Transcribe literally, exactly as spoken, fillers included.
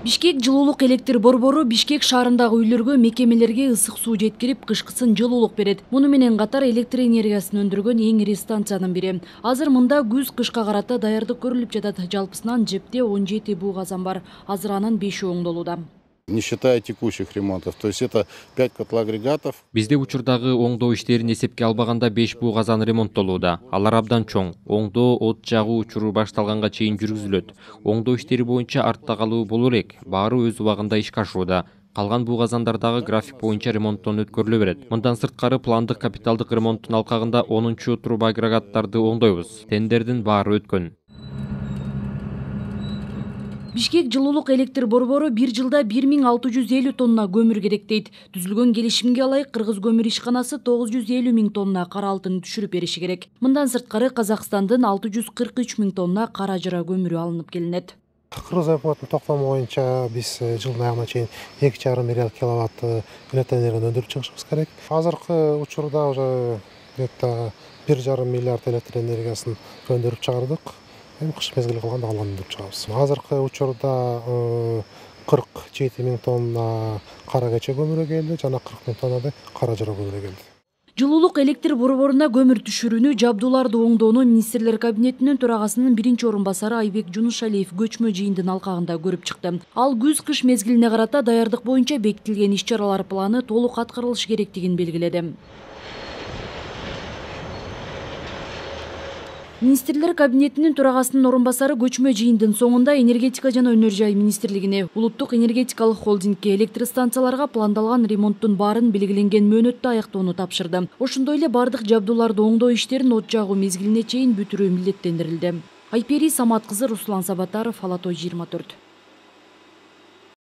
Бишкек жылуулук электр борбору Бишкек шаарындагы үйлөргө, мекемелерге ысык суу жеткирип, кышкысын жылуулук берет. Муну менен катар электр энергиясын өндүргөн эң ири станциянын бири. Азыр мында күз-кышка карата даярдык көрүлүп жатат. Жалпысынан жепте он жети буу казан бар. Азыр анын беши оңдолууда. Не считая текущих ремонтов, то есть это пять котлоагрегатов. Бизде учурдагы оңдоо иштерин эсепке албаганда беш буу казан ремонттолууда. Алар абдан чоң. Оңдоо, от жагуу учуру башталганга чейин жүргүзүлөт. Оңдоо иштери боюнча артта калуу боло элек. Баары өз убагында ишке ашууда. Калган буу казандардагы график боюнча ремонттон өткөрүлө берет. Мындан сырткары пландык капиталдык ремонттун алкагында онунчу труба агрегаттарды оңдойбуз. Тендердин баары өткөн. Бишкек жылуулук электр борбору бир жылда бир миң алты жүз элүү тонна көмүр керек дейт. Түзүлгөн келишимге ылайык Кыргыз көмүр ишканасы тогуз жүз элүү миң тонна кара алтын түшүрүп бериши керек. Мындан сырткары Казакстандын алты жүз кырк үч миң тонна кара жыра көмүрү алынып келинет. Кыргыз өкмөтүнүн токтому боюнча биз жылдын аягына чейин эки жарым миллиард киловатт электр энергияны өндүрүп чыгышыбыз керек. Азыркы учурда уже где-то бир жарым миллиард электр энергиясын өндүрүп чыгардык. Кыш мезгили калганда калганын өндүрүп чыгабыз. Азыркы учурда кырк жети миң тонна кара кече көмүрү келди, жана кырк миң тоннадай кара жыра көмүрү келди. Жылуулук электр борборуна көмүр түшүрүүнү, жабдууларды оңдоону министрлер кабинетинин төрагасынын биринчи орун басары Айбек Жунушалиев көчмө жыйындын алкагында көрүп чыкты. Ал күз-кыш мезгилине карата даярдык боюнча бекитилген иш-чаралар планы толук аткарылышы керектигин белгиледи. Министрлер кабинетинин төрагасынын орун басары көчмө жыйындын соңунда энергетика жана өнөр жай министрлигине, улуттук энергетикалык холдингке, электр станцияларга пландалган ремонттун баарын белгиленген мөөнөттө аяктоону тапшырды. Ошондой эле бардык жабдууларды оңдоо иштерин от жагуу мезгилине чейин бүтүрүү милдеттендирилди. Айпери Самат кызы, Руслан Сабатаров, Ала той жыйырма төрт.